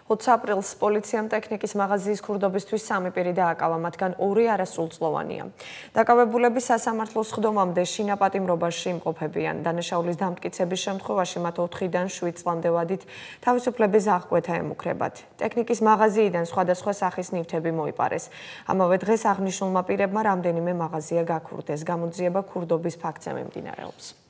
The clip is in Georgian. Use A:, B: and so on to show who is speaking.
A: 20 აპრილს პოლიციამ ტექნიკის მაღაზიის ქურდობისთვის 3 პირი დააკავა, მათგან 2 არასრულწლოვანია. დაკავებულები სასამართლოს ხდომამდე შინაპატიმრობაში იმყოფებიან. დანაშაულის დამტკიცების შემთხვევაში მათ 4-დან 7 წლამდე ვადით თავისუფლების აღკვეთა ემუქრებათ. ტექნიკის მაღაზიიდან სხვადასხვა სახის ნივთები მოიპარეს. ამავე დღეს აღნიშნულმა პირებმა რამდენიმე მაღაზია გაქურდეს. გამოძიება ქურდობის ფაქტზე მიმდინარეობს.